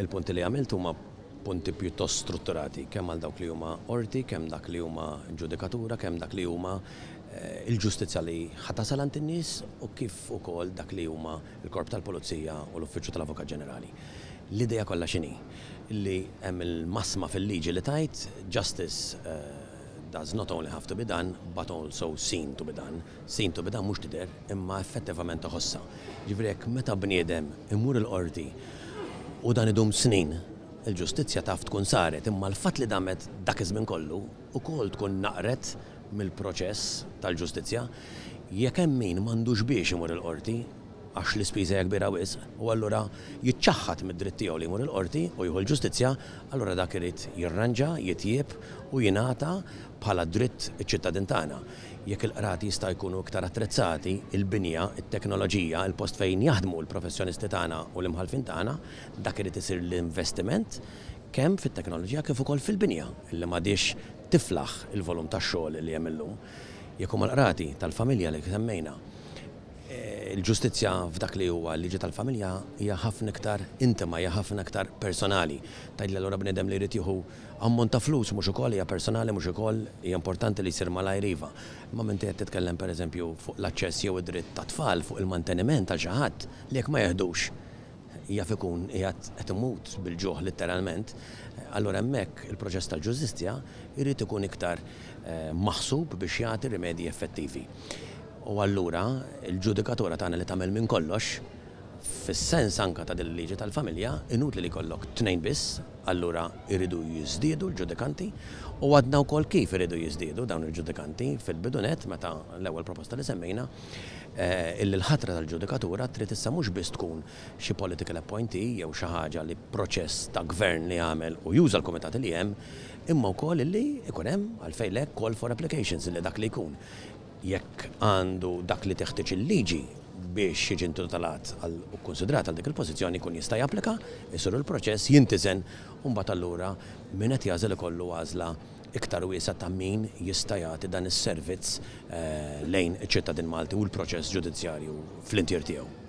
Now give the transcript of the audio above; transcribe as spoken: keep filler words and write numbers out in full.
Il-punti li għamilt huma punti pjuttost strutturati, kemm għal dawk li huma qorti, kemm dak li huma ġudikatura, kemm dak li huma eh, il-ġustizzja li ħa tasal għand in-nies u kif ukoll dak li huma il-Korp tal-Pulizija u l-Uffiċċju tal-Avukat Ġenerali. L-idea kollha x'inhi? Li hemm il-massima fil-liġi li tgħid "justice uh, does not only have to be done, but also seen to be done". Seen to be done mhux tidher, imma effettivament tħossha. Ġifieri jekk meta bniedem imur il-qorti u dan idum snin, il-ġustizzja taf tkun saret, imma l-fatt li damet dak iż-żmien kollu ukoll tkun naqret mill-proċess tal-ġustizzja. Jekk hemm min m'għandux biex imur il-qorti, għax l-ispiża hija kbira wisq, u allura jiċċaħħad mid-dritt tiegħu li jmur il-qorti u jieħu l-ġustizzja, allura dak irid jirranġa, jitjieb u jingħata bħala dritt iċ-ċittadin tagħna. Jekk il-qrati jista' jkunu iktar attrezzati, il-binja, it-teknoloġija, il-post fejn jaħdmu l-professjonisti tagħna u l-imħalfin tagħna, dak irid isir l-investiment kemm fit-teknoloġija kif ukoll fil-binja illi m'għadix tiflaħ il-volum tax-xogħol li hemm illum. Jekk huma l-qrati tal-familja li semmejna, il-ġustizzja f'dak li huwa l-liġi tal-familja hija ħafna iktar intima, hija ħafna iktar personali. Tgħidli allura bniedem li jrid jieħu ammont ta' flus mhux ukoll hija personali, mhux ukoll hija importanti li jsir malajr? Iva. Imma meta qed titkellem, pereżempju, fuq l-aċċess jew id-dritt ta' tfal, fuq il-manteniment għal xi ħadd li jekk ma jeħdux jaf ikun qiegħed qed imut bil-ġuħ letteralment, allura hemmhekk il-proċess tal-ġustizzja jrid ikun iktar eh, maħsub biex jagħti rimedji effettivi. U allura il-ġudikatura tagħna li tagħmel minn kollox, fis-sens anka ta' din il-liġi tal-familja, inutli li jkollok tnejn biss, allura iridu jiżdiedu l-ġudikanti u għadna wkoll kif iridu jiżdiedu dawn il-ġudikanti fil-bidunet meta l-ewwel proposta li semmejna eh, illi l-ħatra tal-ġudikatura trid issa mhux biss tkun xi political appointee jew xi ħaġa li proċess ta' gvern li għamel u juża l-komitat li hemm, imma wkoll illi ikun hemm, għalfejn le, call for applications, illi dak li jkun, jekk għandu dak li teħtieġ il-liġi biex jiġi intitolat u konsidrat għal dik il-pożizzjoni, jkun jista' japplika, isir il-proċess, jintiżen u mbagħad allura min qed jagħżel ikollu għażla iktar wiesa ta' min jista' jagħti dan is-servizz eh, lejn iċ-ċittadin Malti u l-proċess ġudizzjarju fl-intier tiegħu.